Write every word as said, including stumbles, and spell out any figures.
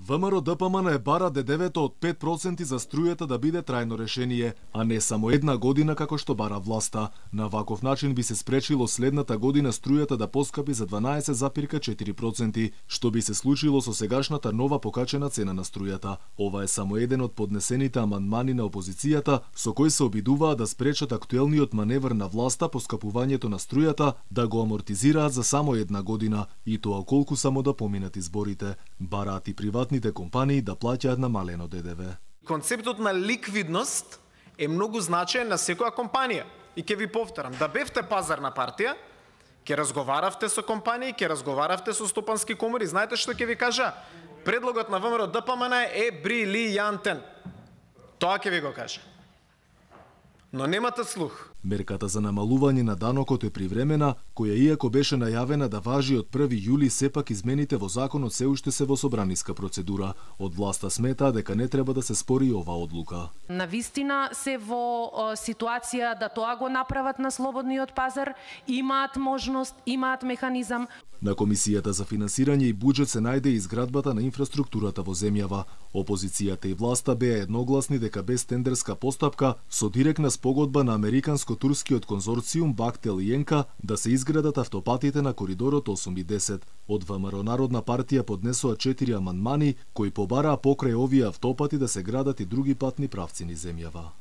ВМРО Д П М Н е бара ДДВ-то од пет проценти за струјата да биде трајно решение, а не само една година како што бара власта. На ваков начин би се спречило следната година струјата да поскапи за дванаесет запирка четири проценти, што би се случило со сегашната нова покачена цена на струјата. Ова е само еден од поднесените амандмани на опозицијата, со кој се обидуваат да спречат актуелниот маневр на власта поскапувањето на струјата да го амортизираат за само една година, и тоа колку само да поминат изборите. Бараат и приватните компании да плаќаат намалено Д Д В. Концептот на ликвидност е многу значаен на секоја компанија. И ќе ви повторам, да бевте пазарна партија, ќе разговаравте со компании, ќе разговаравте со стопански комори, знаете што ќе ви кажа? Предлогот на ВМРО Д П М Н е брилијантен. Тоа ќе ви го кажа. Но немате слух. Мерката за намалување на данокот е привремена, која иако беше најавена да важи од први јули, сепак измените во законот се уште се во собраниска процедура. Од власта сметаа дека не треба да се спори ова одлука. Навистина се во ситуација да тоа го направат на слободниот пазар, имаат можност, имаат механизам. На Комисијата за финансирање и буџет се најде изградбата на инфраструктурата во земјава. Опозицијата и власта беа едногласни дека без тендерска постапка, со директна спогодба на американско-турскиот конзорциум Бахтел и Енка да се изградат автопатите на коридорот осум и десет. Од ВМРО Народна партија поднесоа четири амандмани кои побараа покрај овие автопати да се градат и други патни правци низ земјава.